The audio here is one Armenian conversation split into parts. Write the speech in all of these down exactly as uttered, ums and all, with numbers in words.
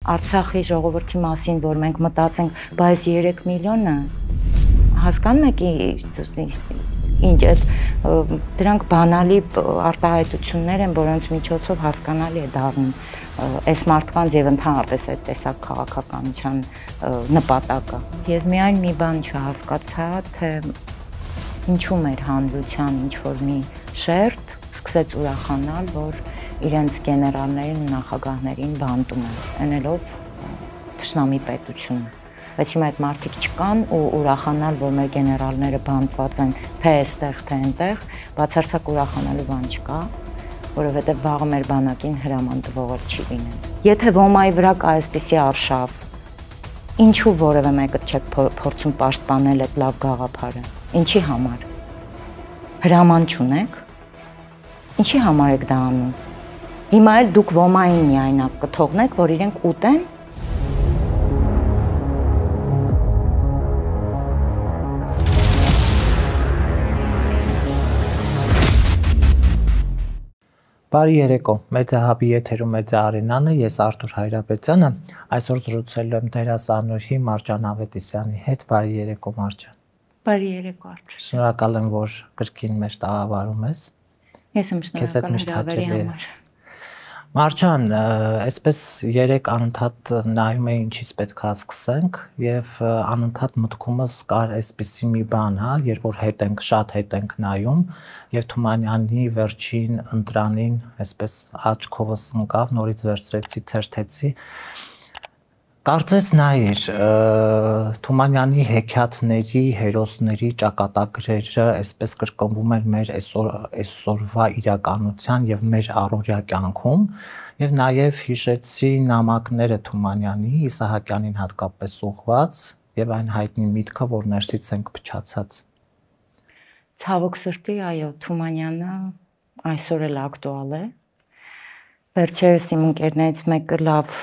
Արցախի ժողովրդի մասին, որ մենք մտածենք, բայց երեք միլիոնը հասկանում եք ինչ այդ դրանք բանալի արտահայտություններ են, որոնց միջոցով հասկանալի է դառնում այս մարդկանց եւ ընդհանրապես այդ տեսակ քաղաքականության նպատակը։ Ես միայն մի բան չհասկացա, թե ինչու մեր հանրության ինչ որ մի շերտ սկսեց ուրախանալ, որ իրենց գեներալներին ու նախագահներին բանտում են, ընելով թշնամի պետություն։ Բայց հիմա այդ մարդիկ չկան ու ուրախանալ, որ մեր գեներալները բանտված են թե այստեղ, թե այնտեղ, բացարձակ ուրախանալու բան չկա, որովհետև վաղը մեր բանակին հրաման տվողը չի լինել։ Եթե ոմայի վրա կա այսպիսի արշավ, ինչու որևէ մեկը չեք փորձում պաշտպանել այդ լավ գաղափարը։ Ինչի համար։ Հրաման չունեք։ Ինչի համար եք դա անում։ Հիմա էլ դուք ոմային միայնակ կթողնեք, որ իրենք ուտեն։ Բարի երեկո, Մեծահաբի եթերում Մեծա Արենանը, ես Արթուր Հայրապետյանը, այսօր զրուցելու եմ դերասանուհի Մարջան Ավետիսյանի հետ, բարի երեկո Մարջան։ Բարի երեկո Արթուր։ Շնորհակալ եմ, որ կրկին մեզ տաղավարում ես։ Ես եմ շնորհակալ հրավերի համար։ Մարջան, այսպես երեք անընդհատ նայում էի ինչից պետք է սկսենք եւ անընդհատ մտքումս կար այսպիսի մի բան, հա, երբ որ հետ ենք, շատ հետ ենք նայում եւ Թումանյանի վերջին ընտրանին այսպես աչքովս ընկավ, նորից վերցրեցի, թերթեցի։ Կարծես նայիր, Թումանյանի հեքիաթների, հերոսների ճակատագրերը այսպես կրկնվում են մեր այսօրվա իրականության եւ մեր առօրյա կյանքում եւ նաեւ հիշեցի նամակները Թումանյանի, Իսահակյանին հատկապես ուղված եւ այն հայտնի միտքը, որ ներսից ենք փչացած։ Ցավոք սրտի, այո, Թումանյանը այսօր էլ ակտուալ է։ Վերջերս իմ ընկերներից մեկը լավ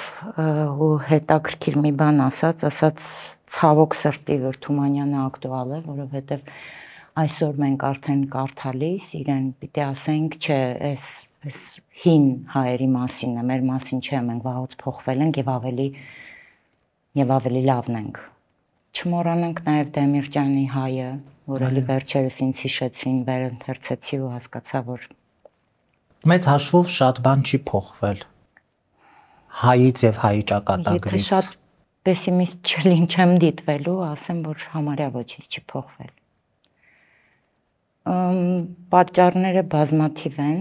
ու հետաքրքիր մի բան ասաց, ասաց ցավոք սրտի, որ Թումանյանը ակտուալ է, որովհետև այսօր մենք արդեն կարդալիս իրեն պիտի ասենք, չէ, այս այս հին հայերի մասին է, մեր մասին չէ, մենք վաղուց փոխվել ենք եւ ավելի եւ ավելի լավն ենք։ Չմոռանանք նաեւ Դեմիրճյանի հայը, որ էլի վերջերս ինձ հիշեցին, վերընթերցեցի ու հասկացա, որ Մեծ հաշվով շատ բան չի փոխվել հայից եւ հայի ճակատագրից։ Եթե շատ պեսիմիստ չլին չեմ դիտվելու, ասեմ, որ համարյա ոչինչ չի փոխվել։ Պատճառները բազմաթիվ են։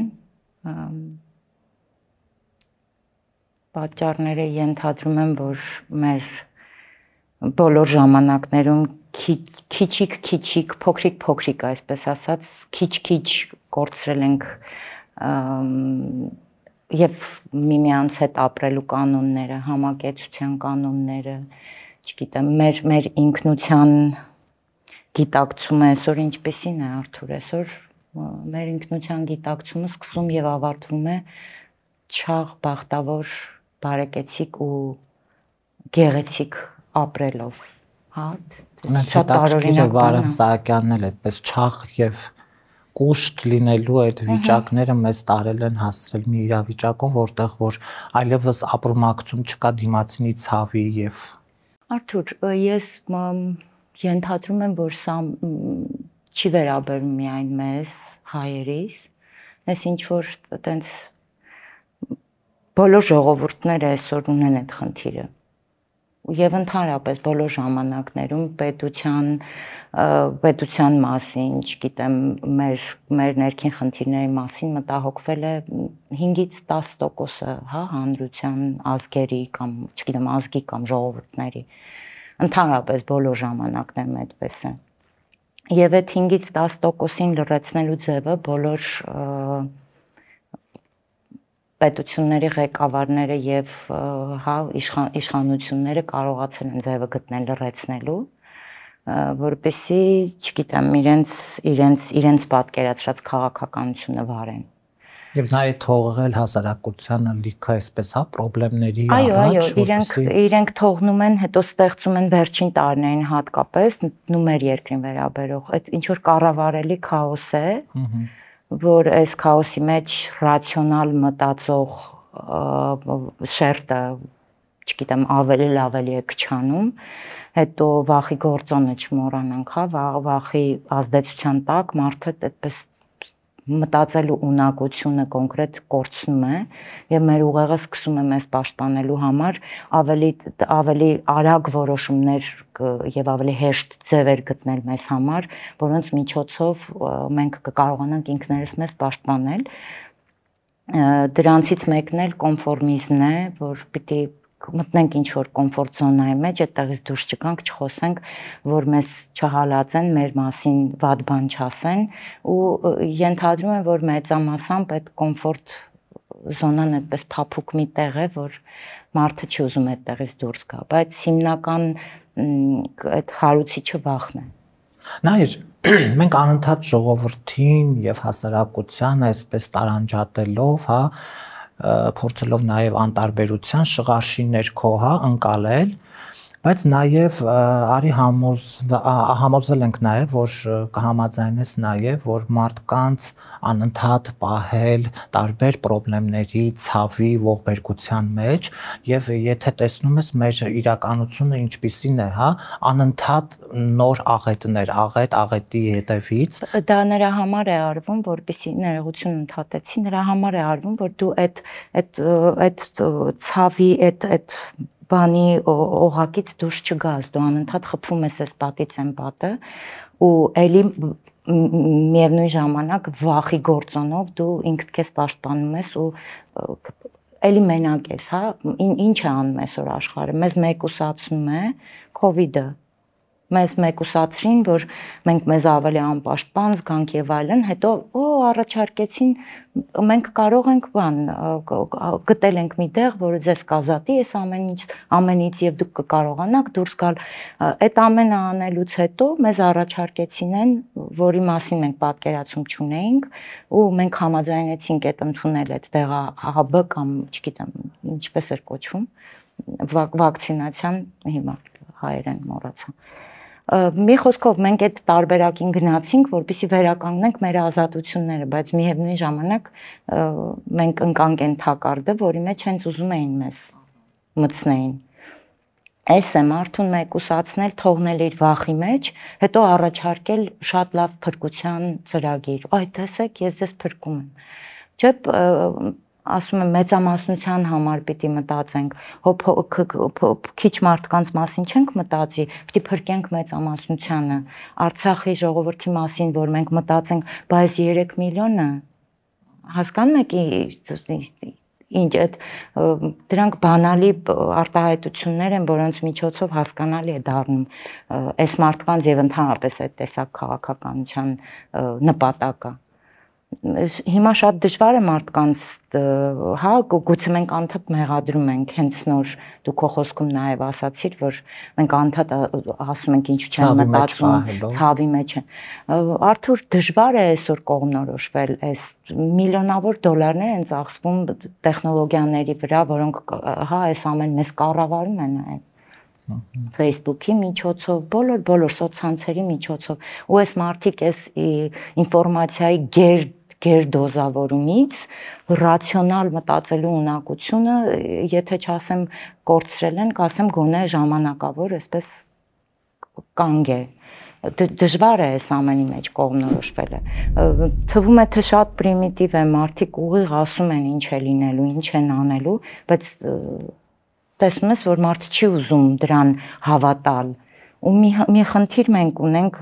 Պատճառները ենթադրում եմ, որ մեր բոլոր ժամանակներում քիչիկ քիչիկ, փոքրիկ փոքրիկ, այսպես ասած, քիչ-քիչ կորցրել ենք եւ միմյանց հետ ապրելու կանոնները, համակեցության կանոնները, չգիտեմ, մեր մեր ինքնության գիտակցումը այսօր ինչպեսին է Արթուր, այսօր մեր ինքնության գիտակցումը սկսում եւ ավարտվում է չաղ բախտավոր, բարեկեցիկ ու գեղեցիկ ապրելով, հա, շատ տարօրինակ Վարդան Սահակյանն էլ այդպես չաղ եւ կուշտ լինելու այդ վիճակները մեզ տարել են հասցրել մի իրավիճակում, որտեղ որ այլևս ապրումակցում չկա դիմացինի ցավի եւ Արթուր, ես ենթադրում եմ, որ սա չի վերաբերում միայն մեզ հայերիս, ես ինչ որ այտենց բոլոր ժողովուրդները այսօր ունեն այդ խնդիրը եւ ընդհանրապես բոլոր ժամանակներում պետության պետության մասին, չգիտեմ, մեր մեր ներքին խնդիրների մասին մտահոգվել է հինգից տասը տոկոսը, հա, հանրության ազգերի կամ, չգիտեմ, ազգի կամ ժողովուրդների, ընդհանրապես բոլոր ժամանակներում այդպես է։ Եվ այդ հինգից տասը տոկոսին լրացնելու ձևը բոլոր պետությունների ղեկավարները եւ հա իշխանությունները կարողացել են ձևը գտնել լրացնելու, որպեսզի, չգիտեմ, իրենց իրենց իրենց պատկերացրած քաղաքականությունը վարեն։ Եվ նաեւ թողել հասարակությանը լիքը այսպես հա խնդիրների առաջ։ Այո, այո, իրենք իրենք թողնում են, հետո ստեղծում են վերջին տարիներին հատկապես նու մեր երկրին վերաբերող այդ ինչ որ կառավարելի քաոս է, որ այս քաոսի մեջ ռացիոնալ մտածող շերտը չգիտեմ, ավելի լավելի է քչանում, հետո վախի գործոնը չմոռանանք, հա, վախի ազդեցության տակ մարդը այդպես մտածելու ունակությունը կոնկրետ կորցնում է եւ մեր ուղեղը սկսում է մեզ պաշտպանելու համար ավելի ավելի արագ որոշումներ եւ ավելի հեշտ ձևեր գտնել մեզ համար, որոնց միջոցով մենք կկարողանանք ինքներս մեզ պաշտպանել։ Դրանցից մեկն էլ կոնֆորմիզմն է, որ պիտի մտնենք ինչ որ կոմֆորտ զոնայի մեջ, այդտեղից դուրս չգանք, չխոսենք, որ մեզ չհալածեն, մեր մասին վատ բան չասեն ու ենթադրում եմ, որ մեծամասամբ այդ կոմֆորտ զոնան այդպես փափուկ մի տեղ է, որ մարդը չի ուզում այդտեղից դուրս գա, բայց հիմնական այդ հարուցիչը վախն է։ Նայր, մենք անընդհատ ժողովրդին եւ հասարակությանը այսպես տարանջատելով, հա, փորձելով նաև անտարբերության շղարշի ներքո, հա, ընկալել, բայց նաև արի համոզվել ենք նաև, որ կհամաձայնես նաև, որ մարդկանց անընդհատ պահել տարբեր խնդիրների, ցավի, ողբերգության մեջ եւ եթե տեսնում ես մեր իրականությունը ինչպիսին է, հա, անընդհատ նոր աղետներ, աղետ, աղետի հետևից։ Դա նրա համար է արվում, որպեսզի ներողություն ընդհատեցի, նրա համար է արվում, որ դու այդ այդ այդ ցավի, այդ այդ բանի օղակից դուրս չգաս, դու անընդհատ խփում ես այս պատից այն պատը ու էլի միևնույն ժամանակ վախի գործոնով դու ինքդ քեզ պաշտպանում ես ու էլի մենակ ես, հա, ինչ է անում այսօր աշխարհը, մեզ մեկուսացնում է COVID-ը, մեզ մեկուսացրին, որ մենք մեզ ավելի անպաշտպան զգանք եւ այլն, հետո օ առաջարկեցին մենք կարող ենք բան գտել ենք մի տեղ, որը ձեզ կազատի այս ամեն ինչ ամենից եւ դուք կկարողանաք դուրս գալ։ Այդ ամենը անելուց հետո մեզ առաջարկեցին են, որի մասին մենք պատկերացում չունեինք ու մենք համաձայնեցինք այդ ընդունել այդ տեղահաբը կամ չգիտեմ ինչպես էր կոչվում վակցինացիան, հիմա հայերեն մոռացա։ Մի խոսքով մենք այդ տարբերակին գնացինք, որպեսզի վերականգնենք մեր ազատությունները, բայց միևնույն ժամանակ մենք ընկանք այն թակարդը, որի մեջ հենց ուզում էին մեզ մտցնեին։ Այս է մարդուն մեկուսացնել, թողնել իր վախի մեջ, հետո առաջարկել շատ լավ փրկության ծրագիր։ Այ տեսեք, ես ձեզ փրկում եմ։ Չէ՞ ասում եմ մեծամասնության համար պիտի մտածենք, քիչ մարդկանց մասին չենք մտածի, պիտի փրկենք մեծամասնությանը, Արցախի ժողովրդի մասին, որ մենք մտածենք, բայց երեք միլիոնը, հասկանում եք ինչ այդ դրանք բանալի արտահայտություններ են, որոնց միջոցով հասկանալի է դառնում այս մարդկանց եւ ընդհանրապես այդ տեսակ քաղաքականության նպատակը։ Հիմա շատ դժվար է մարդկանց, հա, գուցե մենք անդադ մեղադրում ենք, հենց նոր դու քո խոսքում նաև ասացիր, որ մենք անդադ ասում ենք ինչ չեն մտածում, ցավի մեջ են։ Արթուր, դժվար է այսօր կողմնորոշվել, այս միլիոնավոր դոլարներ են ծախսվում տեխնոլոգիաների վրա, որոնք հա այս ամեն մեզ կառավարում են նաև Facebook-ի միջոցով, բոլոր բոլոր սոցցանցերի միջոցով, ու այս մարդիկ այս ինֆորմացիայի գեր գեր դոզավորումից ռացիոնալ մտածելու ունակությունը, եթե չասեմ կորցրել են, կասեմ գոնե ժամանակավոր, այսպես կանգ է։ Դժվար է այս ամենի մեջ կողմնորոշվելը։ Թվում է թե շատ պրիմիտիվ է, մարդիկ ուղիղ ասում են ինչ է լինելու, ինչ են անելու, բայց տեսնում ես, որ մարդը չի ուզում դրան հավատալ։ Ու մի մի խնդիր մենք ունենք,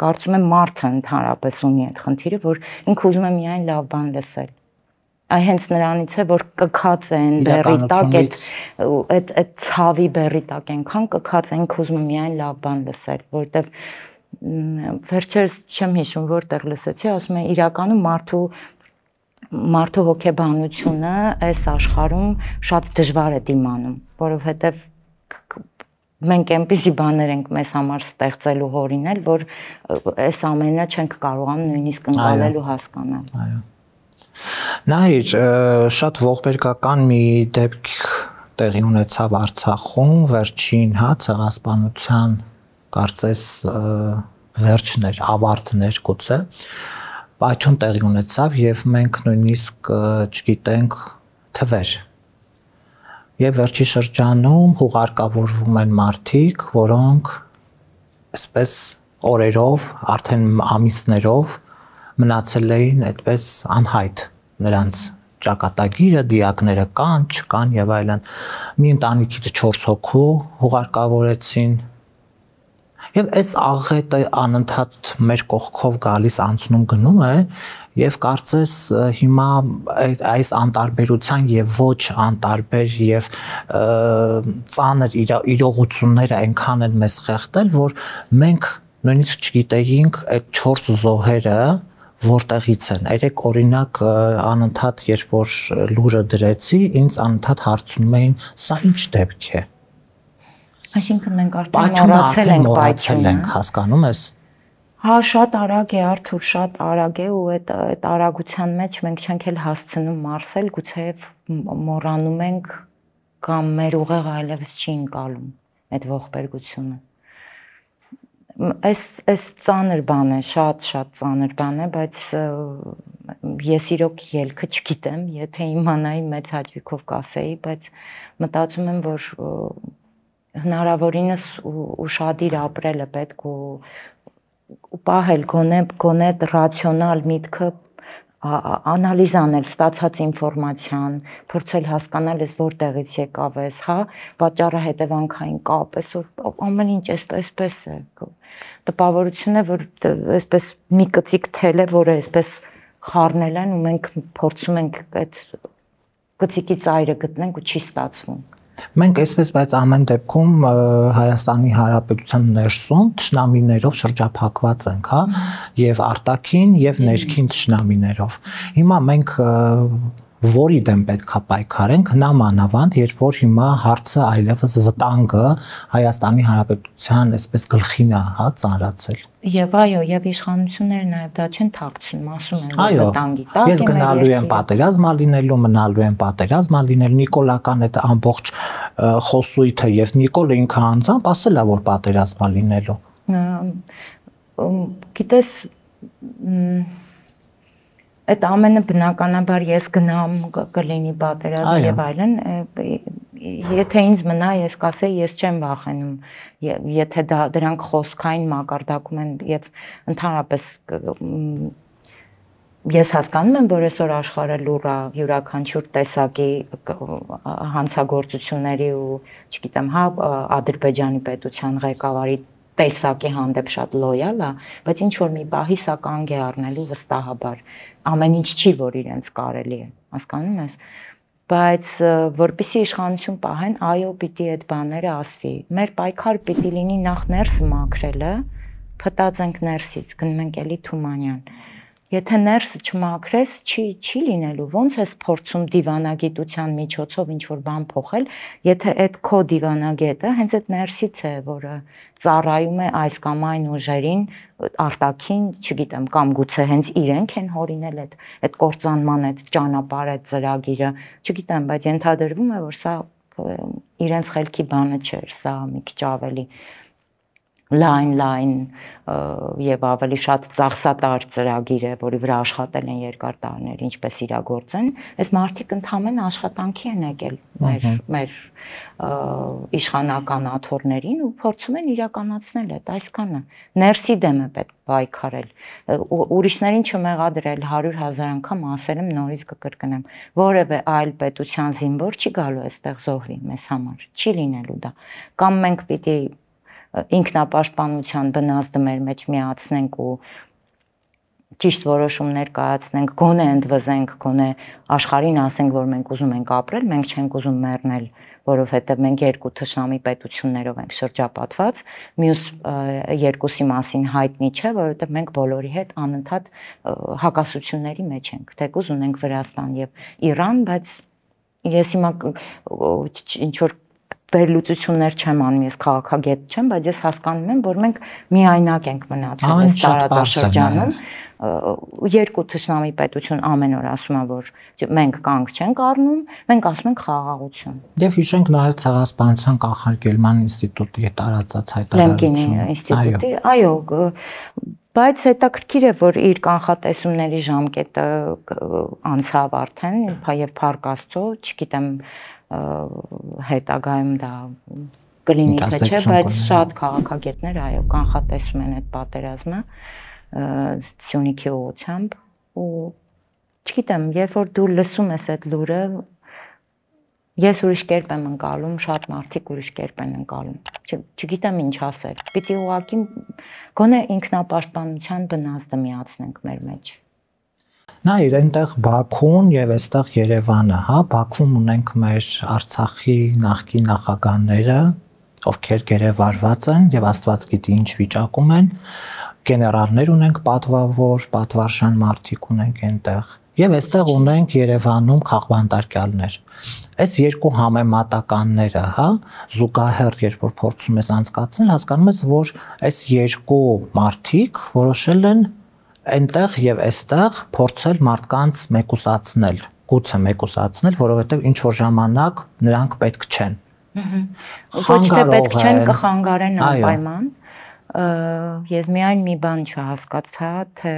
կարծում եմ մարդը ընդհանրապես ունի այդ խնդիրը, որ ինքը ուզում է միայն լավ բան լսել։ Այ հենց նրանից է, որ կքած են բերի տակ, այդ այդ ցավի բերի տակ այնքան կքած են, ինքը ուզում է միայն լավ բան լսել, որտեվ վերջերս չեմ հիշում որտեղ լսեցի, ասում են իրականում մարդու մարդու հոգեբանությունը այս աշխարհում շատ դժվար է դիմանում, որովհետև մենք այնպիսի բաներ ենք մեզ համար ստեղծելու հորինել, որ այս ամենը չենք կարողանում նույնիսկ ընկալել ու հասկանալ։ Այո։ Նայր, շատ ողբերգական մի դեպք տեղի ունեցավ Արցախում, վերջին, հա, ցեղասպանության կարծես վերջն էր, ավարտն էր գուցե։ Պայթյուն տեղի ունեցավ եւ մենք նույնիսկ չգիտենք թվեր։ Եվ վերջի շրջանում հուղարկավորվում են մարդիկ, որոնք այսպես օրերով, արդեն ամիսներով մնացել էին այդպես անհայտ նրանց ճակատագիրը, դիակները կան, չկան եւ այլն։ Մի ընտանիքից չորս հոգու հուղարկավորեցին։ Եվ այս աղետը անընդհատ մեր կողքով գալիս անցնում գնում է եւ կարծես հիմա այս անտարբերության եւ ոչ անտարբեր եւ ծանր իրողությունները այնքան են մեզ խեղդել, որ մենք նույնիսկ չգիտեինք այդ չորս զոհերը որտեղից են։ Երեք օրինակ անընդհատ երբ որ լուրը դրեցի, ինձ անընդհատ հարցնում էին, սա ինչ դեպք է։ Այսինքն մենք արդեն մոռացել ենք պայթյունը, հասկանում ես։ Հա, շատ արագ է, Արթուր, շատ արագ է ու այդ այդ արագության մեջ մենք չենք էլ հասցնում մարսել, գուցեև մոռանում ենք կամ մեր ուղեղը այլևս չի ընկալում այդ ողբերգությունը։ Այս այս ծանր բան է, շատ-շատ ծանր բան է, բայց ես իրոք ելքը չգիտեմ, եթե իմանայի մեծ հաճույքով կասեի, բայց մտածում եմ, որ հնարավորինս ուշադիր ապրելը պետք ու ու պահել գոնե գոնե ռացիոնալ միտքը անալիզ անել ստացած ինֆորմացիան, փորձել հասկանալ ես որտեղից եկավ ես, հա, պատճառը հետևանքային կապ, այսօր ամեն ինչ այսպես է։ Տպավորություն է, որ այսպես մի կծիկ թել է, որը այսպես խառնել են ու մենք փորձում ենք այդ կծիկի ծայրը գտնենք ու չի ստացվում։ Մենք այսպես բայց ամեն դեպքում Հայաստանի Հանրապետության ներսում թշնամիներով շրջափակված ենք, հա, եւ արտաքին եւ ներքին թշնամիներով։ Հիմա մենք որի դեմ պետքա պայքարենք, հնամանավանդ, երբ որ հիմա հարցը այլևս վտանգը Հայաստանի Հանրապետության այսպես գլխին է, հա, ծանրացել։ Եվ այո, եւ իշխանությունները նաեւ դա չեն թաքցնում, ասում են, որ վտանգի տակ է։ Ես գնալու եմ պատերազմա լինելու, մնալու եմ պատերազմա լինելու, Նիկոլական այդ ամբողջ խոսույթը եւ Նիկոլը ինքը անձամբ ասել է, որ պատերազմա լինելու։ Գիտես, այդ ամենը բնականաբար ես գնամ կլինի պատերազմ եւ այլն, եթե ինձ մնա ես կասեի ես չեմ վախենում, եթե դա դրանք խոսքային մակարդակում են եւ ընդհանրապես ես հասկանում եմ, որ այսօր աշխարհը լուր է յուրաքանչյուր տեսակի հանցագործությունների ու, չգիտեմ, հա, Ադրբեջանի պետության ղեկավարի տեսակի հանդեպ շատ լոյալ է, բայց ինչ որ մի բահի սա կանգ է առնելու վստահաբար։ Ամեն ինչ չի, որ իրենց կարելի է, հասկանում ես։ Բայց որպեսզի իշխանություն պահեն, այո, պիտի այդ բաները ասվի։ Մեր պայքար պիտի լինի նախ ներսը մաքրելը, փտածենք ներսից, գնում ենք էլի Թումանյան։ Եթե ներսը չմաքրես, չի չի լինելու։ Ոնց ես փորձում դիվանագիտության միջոցով ինչ որ բան փոխել, եթե այդ քո դիվանագետը հենց այդ ներսից է, որը ծառայում է այս կամ այն ուժերին, արտաքին, չգիտեմ, կամ գուցե հենց իրենք են հորինել այդ այդ կործանման այդ ճանապարհը, այդ ծրագիրը, չգիտեմ, բայց ենթադրվում է, որ սա իրենց խելքի բանը չէր, սա մի քիչ ավելի լայն լայն եւ ավելի շատ ծախսատար ծրագիր է, որի վրա աշխատել են երկար տարիներ, ինչպես իրագործեն, այս մարդիկ ընդհանրեն աշխատանքի են եկել մեր մեր իշխանական աթոռներին ու փորձում են իրականացնել այդ այսքանը։ Ներսի դեմ է պետք պայքարել, ուրիշներին չմեղադրել, հարյուր հազար անգամ ասել եմ, նորից կկրկնեմ, որևէ այլ պետության զինվոր չի գալու այստեղ զոհվի մեզ համար, չի լինելու դա։ Կամ մենք պիտի ինքնապաշտպանության բնազդը մեր մեջ միացնենք ու ճիշտ որոշումներ կայացնենք, գոնե ընդվզենք, գոնե աշխարհին ասենք, որ մենք ուզում ենք ապրել, մենք չենք ուզում մեռնել, որովհետև մենք երկու թշնամի պետություններով ենք շրջապատված, մյուս երկուսի մասին հայտնի չէ, որովհետև մենք բոլորի հետ անընդհատ հակասությունների մեջ ենք, թեկուզ ունենք Վրաստան եւ Իրան, բայց ես հիմա ինչ որ վերլուծություններ չեմ անում, ես քաղաքագետ չեմ, բայց ես հասկանում եմ, որ մենք միայնակ ենք մնացել այս տարածաշրջանում։ Երկու թշնամի պետություն ամեն օր ասում է, որ մենք կանգ չենք առնում, մենք ասում ենք խաղաղություն։ Եվ հիշենք նաև Ցեղասպանության կանխարգելման ինստիտուտի տարածած հայտարարությունը։ Ինստիտուտի, այո, բայց հետաքրքիր է, որ իր կանխատեսումների ժամկետը անցավ արդեն, եւ Փառք Աստծո, չգիտեմ, հետագայում դա կլինի թե չէ, բայց շատ քաղաքագետներ այո կանխատեսում են այդ պատերազմը Սյունիքի ուղղությամբ ու չգիտեմ, երբ որ դու լսում ես այդ լուրը, ես ուրիշ կերպ եմ ընկալում, շատ մարդիկ ուրիշ կերպ են ընկալում։ Չգիտեմ ինչ ասել։ Պիտի ուղղակի գոնե ինքնապաշտպանության բնազդը միացնենք մեր մեջ։ Նայր, այնտեղ Բաքուն եւ այստեղ Երևանը, հա, Բաքվում ունենք մեր Արցախի նախկին նախագահները, ովքեր գերեվարված են եւ Աստված գիտի ինչ վիճակում են, գեներալներ ունենք պատվավոր, պատվարժան մարդիկ ունենք այնտեղ։ Եվ այստեղ ունենք Երևանում քաղբանտարկյալներ։ Այս երկու համեմատականները, հա, զուգահեռ երբ որ փորձում ես անցկացնել, հասկանում ես, որ այս երկու մարդիկ որոշել են այնտեղ եւ այստեղ փորձել մարդկանց մեկուսացնել, գուցե մեկուսացնել, որովհետեւ ինչ որ ժամանակ նրանք պետք չեն։ Ոչ թե պետք չեն, կխանգարեն անպայման։ Ես միայն մի բան չհասկացա, թե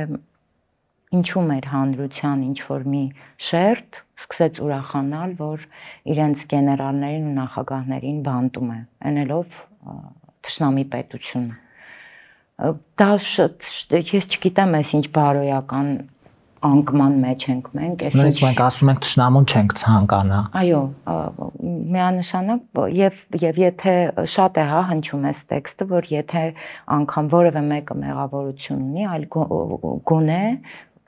ինչու մեր հանրության ինչ որ մի շերտ սկսեց ուրախանալ, որ իրենց գեներալներին ու նախագահներին բանտում է, այնելով թշնամի պետությունը։ Դա ես չգիտեմ, ես ինչ բարոյական անկման մեջ ենք մենք, այս ինչ մենք ասում ենք թշնամուն չենք ցանկանա։ Այո, միանշանակ եւ եւ եթե շատ է հա հնչում այս տեքստը, որ եթե անգամ որևէ մեկը մեղավորություն ունի, այլ գոնե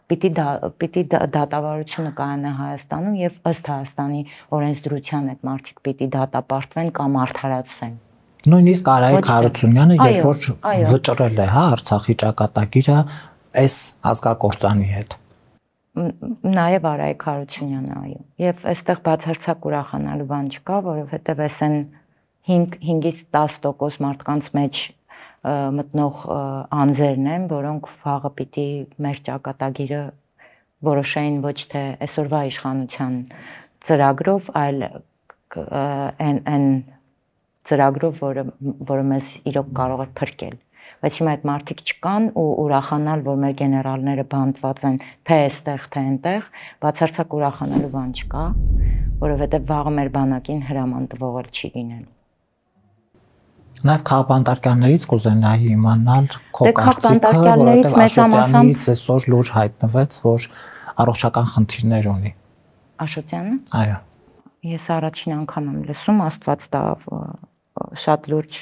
պիտի դա պիտի դատավարությունը կայանա Հայաստանում եւ ըստ Հայաստանի օրենսդրության այդ մարդիկ պիտի դատապարտվեն կամ արդարացվեն։ Նույնիսկ Արայիկ Հարությունյանը երբ որ վճռել է, հա, Արցախի ճակատագիրը այս ազգակործանի հետ։ Նաեւ Արայիկ Հարությունյանը, այո։ Եվ այստեղ բացարձակ ուրախանալու բան չկա, որովհետեւ այս են հինգից դաս տոկոս մարդկանց մեջ մտնող անձերն են, որոնք վաղը պիտի մեր ճակատագիրը որոշեին ոչ թե այսօրվա իշխանության ծրագրով, այլ այն ծրագրով, որը որը մեզ իրոք կարող է փրկել։ Բայց հիմա այդ մարդիկ չկան ու ուրախանալ, որ մեր գեներալները բանտված են թե այստեղ, թե այնտեղ, բացարձակ ուրախանալու բան չկա, որովհետև վաղը մեր բանակին հրաման տվող էլ չի լինելու։ Նաև քաղբանտարկյալներից կուզենայի իմանալ քո կարծիքը, որովհետև Աշոտյանից այսօր լուր հայտնվեց, որ առողջական խնդիրներ ունի։ Աշոտյանը։ Այո։ Ես առաջին անգամ եմ լսում, Աստված տա շատ լուրջ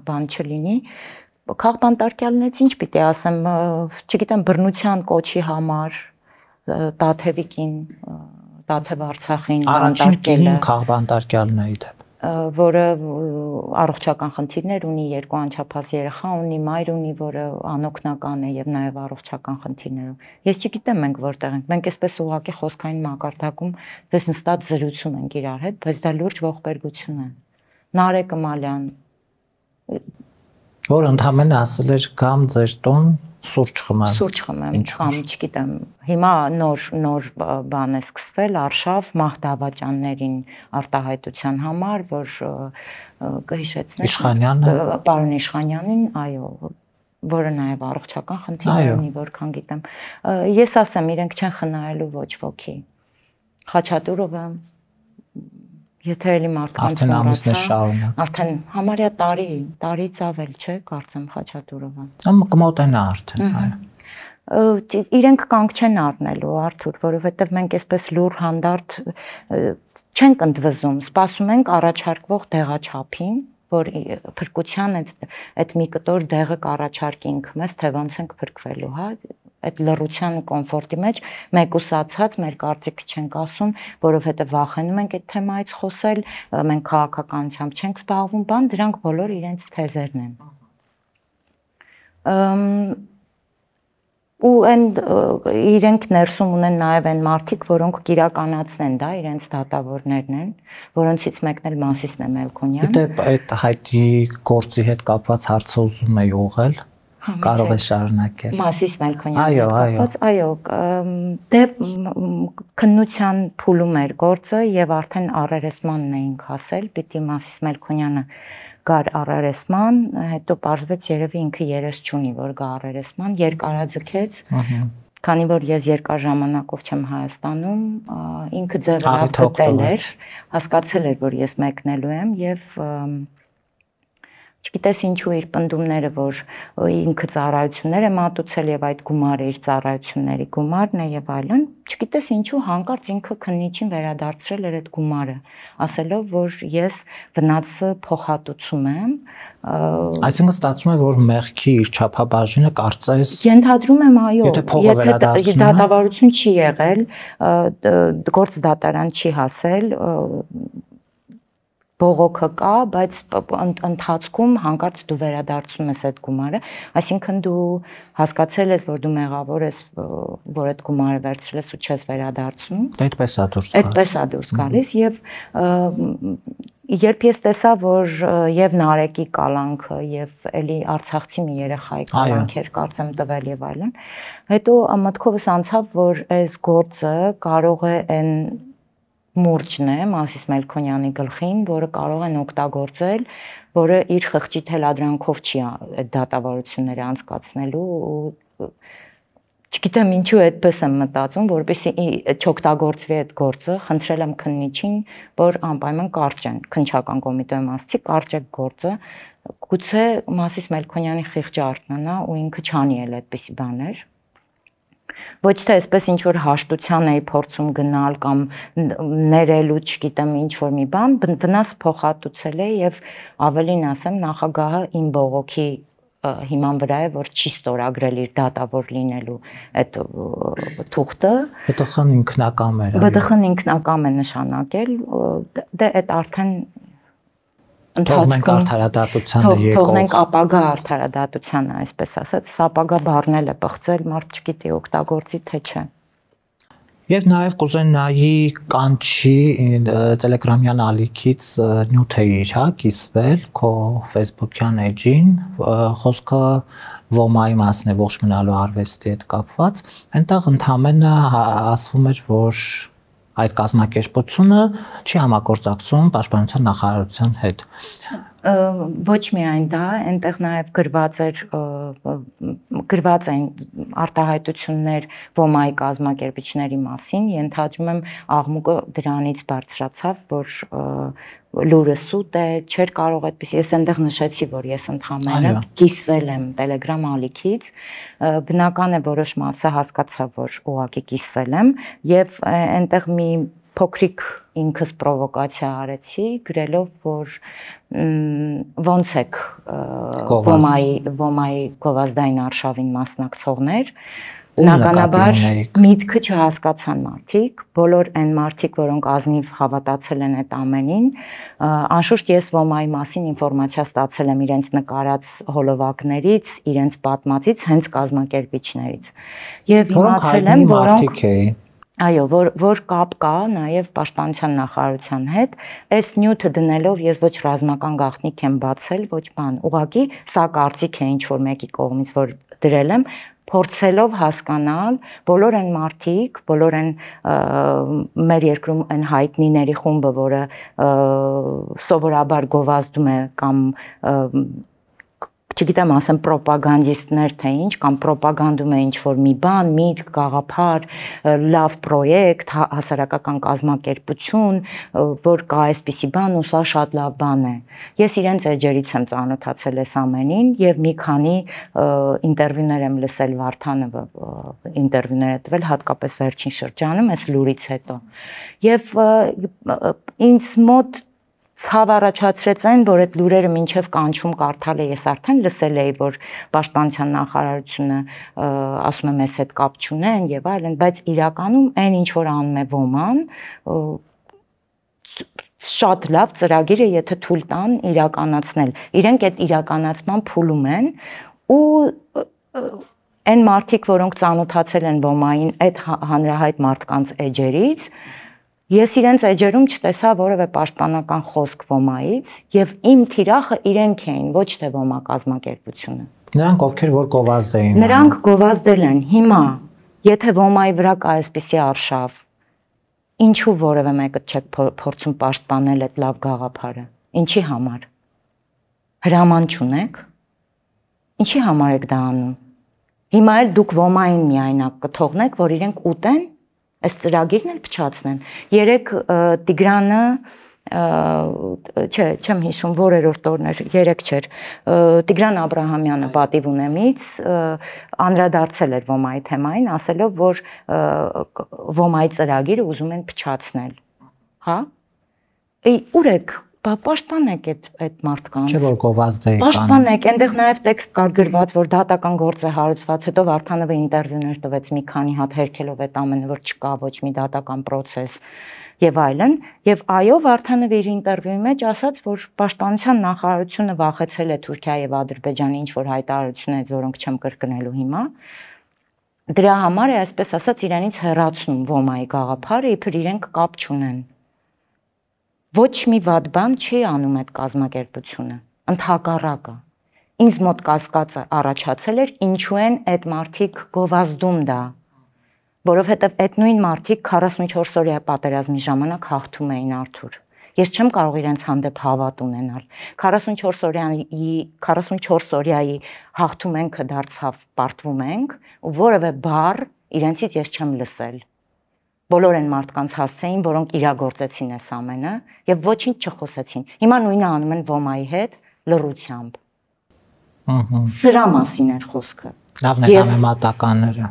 բան չլինի։ Քաղբանտարկյալներից ինչ պիտի ասեմ, չգիտեմ, բռնության կոչի համար Տաթևիկին, Տաթև Արցախին բանտարկել է քաղբանտարկյալն է իդեպ, որը առողջական խնդիրներ ունի, երկու անչափահաս երեխա ունի, մայր ունի, որը անօգնական է եւ նաեւ առողջական խնդիրներով։ Ես չգիտեմ մենք որտեղ ենք, մենք այսպես ուղղակի խոսքային մակարդակում դες նստած զրուցում ենք իրար հետ, բայց դա լուրջ ողբերգություն է։ Նարեկ Մալյան, որ ընդհանրապես ասել էր կամ ձեր տուն սուրճ խմեմ։ Սուրճ խմեմ, կամ չգիտեմ։ Հիմա նոր նոր բան է սկսվել Արշավ մահդավաճաններին արտահայտության համար, որ կհիշեցնեք Իշխանյանը, պարոն Իշխանյանին, այո, որը նաև առողջական խնդիրներ ունի, որքան գիտեմ։ Ես ասեմ, իրենք չեն խնայելու ոչ ոքի։ Խաչատուրովը, եթե էլի մարդկանց մոռացա, արդեն համարյա տարի, տարից ավել չէ, կարծեմ Խաչատուրովը։ Ամ կմոտենա արդեն, այո։ Իրենք կանգ չեն առնելու, Արթուր, որովհետև մենք այսպես լուր հանդարտ չենք ընդվզում, սպասում ենք առաջարկվող դեղաչափին, որ փրկության այդ մի կտոր դեղը կառաջարկի ինքը մեզ, թե ոնց ենք փրկվելու, հա, այդ լռության կոմֆորտի մեջ մեկուսացած մեր կարծիքը չենք ասում, որովհետև վախենում ենք այդ թեմայից խոսել, մենք քաղաքականությամբ չենք զբաղվում, բան, դրանք բոլոր իրենց թեզերն են։ Ու այն իրենք ներսում ունեն նաև այն մարդիկ, որոնք կիրականացնեն, դա իրենց դատավորներն են, որոնցից մեկն էլ Մասիսն է Մելքոնյան։ Դե այդ հայտի գործի հետ կապված հարցը ուզում եի ուղղել, կարող է շարունակել։ Մասիս Մելքոնյանի հետ կապված, այո, դե քննության փուլում էր գործը եւ արդեն առերեսմանն էինք ասել, պիտի Մասիս Մելքոնյանը գար առերեսման, հետո պարզվեց երևի ինքը երես չունի, որ գա առերեսման, երկարաձգեց, քանի որ ես երկար ժամանակով չեմ Հայաստանում, ինքը ձևը գտել էր, հասկացել էր, որ ես մեկնելու եմ եւ չգիտես ինչու իր պնդումները, որ ինքը ծառայություններ է մատուցել եւ այդ գումարը իր ծառայությունների գումարն է եւ այլն, չգիտես ինչու հանկարծ ինքը քննիչին վերադարձրել էր այդ գումարը, ասելով, որ ես վնասը փոխհատուցում եմ։ Այսինքն ստացվում է, որ մեղքի իր չափաբաժինը կարծես ենթադրում եմ, այո, եթե դատավարություն չի եղել, գործ դատարան չի հասել, բողոքը կա, բայց ընթացքում հանկարծ դու վերադարձնում ես այդ գումարը, այսինքն դու հասկացել ես, որ դու մեղավոր ես, որ այդ գումարը վերցրել ես ու չես վերադարձնում։ Այդպես է դուրս գալիս։ Այդպես է դուրս գալիս եւ երբ ես տեսա, որ եւ Նարեկի կալանքը եւ էլի Արցախցի մի երեխայի կալանքեր կարծեմ տվել եւ այլն, հետո մտքովս անցավ, որ այս գործը կարող է այն մուրճն է Մասիս Մելքոնյանի գլխին, որը կարող են օգտագործել, որը իր խղճի թելադրանքով չի այդ դատավարությունները անցկացնելու ու չգիտեմ ինչու այդպես եմ մտածում, որպեսզի չօգտագործվի այդ գործը, խնդրել եմ քննիչին, որ անպայման կարճեն, քննչական կոմիտեի մասի կարճեք գործը, գուցե Մասիս Մելքոնյանի խիղճը արթնանա ու ինքը չանի էլ այդպիսի բաներ։ Ոչ թե այսպես ինչ որ հաշտության էի փորձում գնալ կամ ներելու, չգիտեմ, ինչ որ մի բան, վնաս փոխհատուցել է եւ ավելին ասեմ, նախագահը իմ բողոքի հիման վրա է, որ չի ստորագրել իր դատավոր լինելու այդ թուղթը։ ԲՏԽ-ն ինքնակամ էր։ ԲՏԽ-ն ինքնակամ է նշանակել, դե այդ արդեն Թողնենք արդարադատությանը եկող։ Թողնենք ապագա արդարադատությանը, այսպես ասած, ապագա բառնել է բղծել, մարդ չգիտի օգտագործի թե չէ։ Եվ նաև կուզենայի կանչի Տելեգրամյան ալիքից նյութ է իր, հա, կիսվել քո Facebook-յան էջին, խոսքը ոմայի մասն է, ողջ մնալու արվեստի հետ կապված, այնտեղ ընդհանրապես ասվում էր, որ այդ կազմակերպությունը չի համագործակցում Պաշտպանության նախարարության հետ։ Ոչ միայն դա, այնտեղ նաև գրված էր գրված են արտահայտություններ ոմայի կազմակերպիչների մասին, ենթադրում եմ աղմուկը դրանից բարձրացավ, որ լուրը սուտ է, չէր կարող այդպես, ես այնտեղ նշեցի, որ ես ընդհանրապես կիսվել եմ Telegram ալիքից, բնական է որոշ մասը հասկացա, որ ուղղակի կիսվել եմ եւ այնտեղ մի փոքրիկ ինքս պրովոկացիա արեցի, գրելով, որ ոնց եք ոմայի ոմայի գովազդային արշավին մասնակցողներ, բնականաբար միտքը չհասկացան մարդիկ, բոլոր այն մարդիկ, որոնք ազնիվ հավատացել են այդ ամենին, անշուշտ ես ոմայի մասին ինֆորմացիա ստացել եմ իրենց նկարած հոլովակներից, իրենց պատմածից, հենց կազմակերպիչներից։ Եվ իմացել եմ, որոնք Այո, որ որ կապ կա նաև Պաշտպանության նախարարության հետ, այս նյութը դնելով ես ոչ ռազմական գաղտնիք եմ բացել, ոչ բան, ուղղակի սա կարծիք է ինչ որ մեկի կողմից, որ դրել եմ, փորձելով հասկանալ բոլոր այն մարդիկ, բոլոր այն մեր երկրում այն հայտնիների խումբը, որը սովորաբար գովազդում է կամ չգիտեմ, ասեմ պրոպագանդիստներ թե ինչ, կամ պրոպագանդում է ինչ-որ մի բան, միտք, գաղափար, լավ պրոյեկտ, հասարակական կազմակերպություն, որ կա այսպիսի բան ու սա շատ լավ բան է։ Ես իրենց էջերից եմ ծանոթացել այս ամենին եւ մի քանի ինտերվյուներ եմ լսել Վարդանը ինտերվյուներ է տվել հատկապես վերջին շրջանում, այս լուրից հետո։ Եվ ինձ մոտ ցավ առաջացրեց այն, որ այդ լուրերը մինչև կանչում կարդալ է, ես արդեն լսել էի, որ Պաշտպանության նախարարությունը ասում է մեզ հետ կապ չունեն եւ այլն, բայց իրականում այն ինչ որ անում է ոման, շատ լավ ծրագիր է, եթե թույլ տան իրականացնել։ Իրենք այդ իրականացման փուլում են ու այն մարդիկ, որոնք ծանոթացել են ոմային այդ հանրահայտ մարդկանց էջերից, ես իրենց էջերում չտեսա որևէ պաշտպանական խոսք ոմայից եւ իմ թիրախը իրենք էին, ոչ թե ոմա կազմակերպությունը։ Նրանք ովքեր որ գովազդ էին։ Նրանք գովազդել են։ Հիմա, եթե ոմայի վրա կա այսպիսի արշավ, ինչու որևէ մեկը չեք փորձում պաշտպանել այդ լավ գաղափարը։ Ինչի համար։ Հրաման չունեք։ Ինչի համար եք դա անում։ Հիմա էլ դուք ոմային միայնակ կթողնեք, որ իրենք ուտեն, այս ծրագիրն էլ փչացնեն։ Երեք Տիգրանը, չէ, չեմ հիշում, որերորդ օրն էր, երեք չէր, Տիգրան Աբրահամյանը պատիվ ունեմից անդրադարձել էր ոմայի թեմային, ասելով, որ ոմայի ծրագիրը ուզում են փչացնել։ Հա? Ուր եք Պաշտպանեք այդ մարդկանց։ Չէ՞ որ գովազդ է կան։ Պաշտպանեք, այնտեղ նաև տեքստ կար գրված, որ դատական գործ է հարուցված, հետո Վարդանովը ինտերվյուներ տվեց մի քանի հատ հերքելով այդ ամենը, որ չկա ոչ մի դատական process եւ այլն, եւ այո, Վարդանովը իր ինտերվյուի մեջ ասաց, որ Պաշտպանության նախարարությունը վախեցել է Թուրքիայի եւ Ադրբեջանի ինչ որ հայտարարություններից, որոնք չեմ կրկնելու հիմա։ Դրա համար է, այսպես ասած, իրանից հեռացնում ոմայի գաղափարը, իբր իրենք կապ չունեն։ Ոչ մի վատ բան չի անում այդ կազմակերպությունը, ընդհակառակը։ Ինձ մոտ կասկածը առաջացել էր, ինչու են այդ մարդիկ գովազդում դա, որովհետև այդ նույն մարդիկ քառասունչորս օրյա պատերազմի ժամանակ հաղթում էին Արթուր։ Ես չեմ կարող իրենց հանդեպ հավատ ունենալ։ քառասունչորս օրյայի քառասունչորս օրյայի հաղթում ենքը դարձավ պարտվում ենք, ու որևէ բառ իրենցից ես չեմ լսել։ Բոլոր են մարդկանց հասցեին, որոնք իրագործեցին այս ամենը եւ ոչինչ չխոսեցին։ Հիմա նույնը անում են ոմայի հետ լռությամբ։ Ահա։ Սրա մասին էր խոսքը։ Լավն է համեմատականները։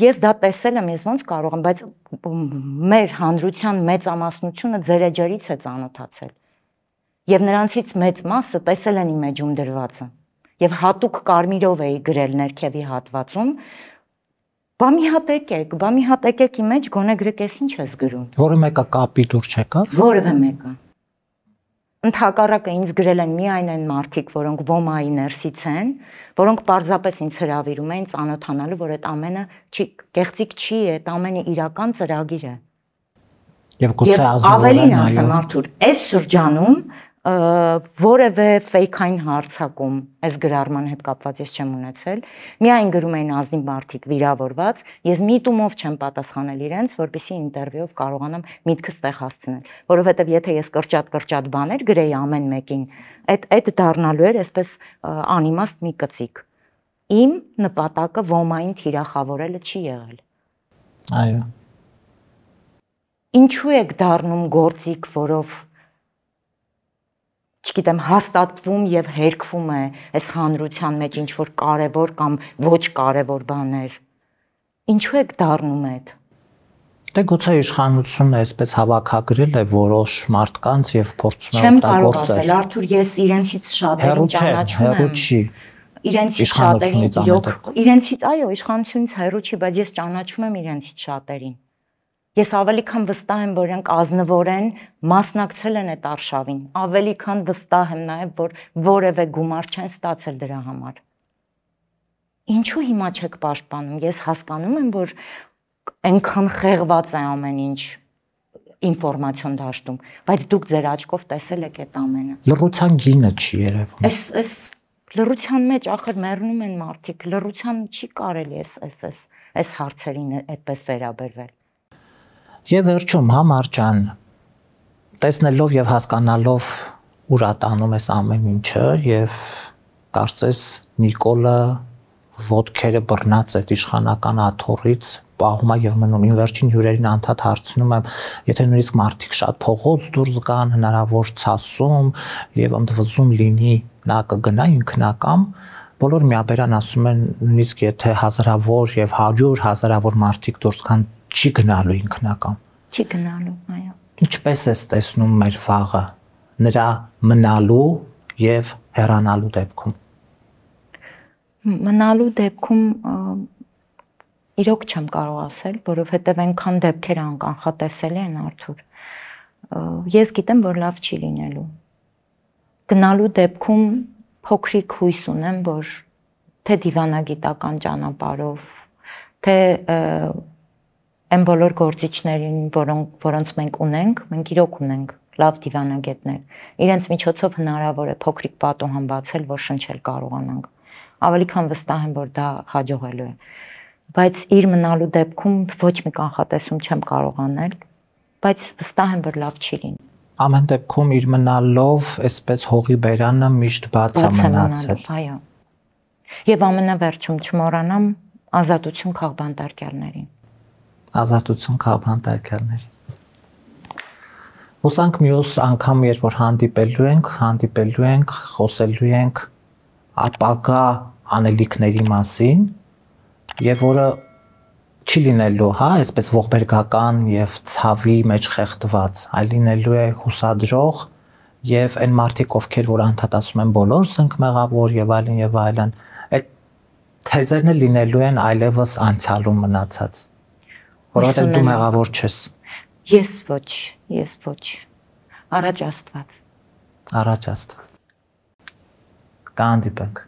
Ես դա տեսել եմ, ես ոնց կարող եմ, բայց մեր հանրության մեծամասնությունը ձեր էջերից է ծանոթացել։ Եվ նրանցից մեծ մասը տեսել են իմ էջում դրվածը։ Եվ հատուկ կարմիրով էի գրել ներքևի հատվածում, բա մի հատ եկեք, բա մի հատ եկեք իմ մեջ, գոնե գրեք ես ինչ ես գրում։ Որը մեկը կապի դուր չեկավ։ Որևէ մեկը։ Ընդհակառակը ինձ գրել են միայն այն մարդիկ, որոնք ոմայի ներսից են, որոնք պարզապես ինձ հրավիրում էին ծանոթանալու, որ այդ ամենը չի կեղծիք չի, այդ ամենը իրական ծրագիր է։ Եվ գուցե ավելին ասեմ Արթուր, այս շրջանում որևէ ֆեյքային հարցակում այս գրառման հետ կապված ես չեմ ունեցել, միայն գրում էին ազնիվ մարդիկ վիրավորված, ես միտումով չեմ պատասխանել իրենց, որպեսզի ինտերվյուով կարողանամ միտքս տեղ հասցնել, որովհետև եթե ես կրճատ-կրճատ բաներ գրեի ամեն մեկին, այդ այդ դառնալու էր այսպես անիմաստ մի կծիկ։ Իմ նպատակը ոմային թիրախավորելը չի եղել։ Այո։ Ինչու եք դառնում գործիք, որով չգիտեմ, հաստատվում եւ հերկվում է այս հանրության մեջ ինչ որ կարեւոր կամ ոչ կարեւոր բաներ։ Ինչու եք դառնում այդ։ Դե գուցե իշխանությունը այսպես հավաքագրել է որոշ մարդկանց եւ փորձում է օգտագործել։ Չեմ կարող ասել, Արթուր, ես իրենցից շատերին ճանաչում եմ։ Հերու չի։ Իրենցից շատերին, իրենցից, այո, իշխանությունից հերու չի, բայց ես ճանաչում եմ իրենցից շատերին։ Ես ավելի քան վստահ եմ, որ իրենք ազնվորեն մասնակցել են այդ արշավին, ավելի քան վստահ եմ նաև, որ որևէ գումար չեն ստացել դրա համար։ Ինչու հիմա չեք պաշտպանում։ Ես հասկանում եմ, որ այնքան խեղված է ամեն ինչ ինֆորմացիոն դաշտում, բայց դուք ձեր աչքով տեսել եք այդ ամենը։ Լռության գինը չի երևում։ Այս այս լռության մեջ ախր մեռնում են մարդիկ, լռության չի կարելի էս էս էս այս հարցերին այդպես վերաբերվել։ Եվ վերջում Համար ջան, տեսնելով եւ հասկանալով ուր ատանում ես ամեն ինչը եւ կարծես Նիկոլը ոտքերը բռնած այդ իշխանական աթոռից պահում է եւ մնում։ Ին վերջին հյուրերին անդադ հարցնում եմ, եթե նույնիսկ մարդիկ շատ փողոց դուրս գան, հնարավոր ցասում եւ ընդվզում լինի, նա կգնա ինքնակամ, բոլոր միաբերան ասում են նույնիսկ եթե հազարավոր եւ հարյուր հազարավոր մարդիկ դուրս գան, չի գնալու ինքնակամ։ Չի գնալու, այո։ Ինչպես ես տեսնում մեր վաղը նրա մնալու եւ հեռանալու դեպքում։ Մնալու դեպքում իրոք չեմ կարող ասել, որովհետեւ այնքան դեպքեր անկանխատեսելի են, Արթուր։ Ես գիտեմ, որ լավ չի լինելու։ Գնալու դեպքում փոքրիկ հույս ունեմ, որ թե դիվանագիտական ճանապարհով, թե այն բոլոր գործիչներին, որոնք որոնց մենք ունենք, մենք իրոք ունենք լավ դիվանագետներ։ Իրենց միջոցով հնարավոր է փոքրիկ պատուհան բացել, որ շնչել կարողանանք։ Ավելի քան վստահ եմ, որ դա հաջողելու է։ Բայց իր մնալու դեպքում ոչ մի կանխատեսում չեմ կարող անել, բայց վստահ եմ, որ լավ չի լինի։ Ամեն դեպքում իր մնալով, այսպես հողի բերանը միշտ բաց է մնացել։ Այո։ Եվ ամենավերջում չմոռանամ ազատություն քաղբանտարկյալներին։ Ազատություն քաղբանտարկյալներին։ Հուսանք մյուս անգամ, երբ որ հանդիպելու ենք, հանդիպելու ենք, խոսելու ենք ապագա անելիքների մասին, եւ որը չի լինելու, հա, այսպես ողբերգական եւ ցավի մեջ խեղդված, այլ լինելու է հուսադրող եւ այն մարդիկ, ովքեր որ անդադ ասում են բոլորս ենք մեղավոր եւ այլն եւ այլն, այդ թեզերն լինելու են այլևս անցյալում մնացած, որովհետեւ դու մեղավոր չես։ Ես ոչ, ես ոչ։ Առաջ Աստված։ Առաջ Աստված։ Կհանդիպենք։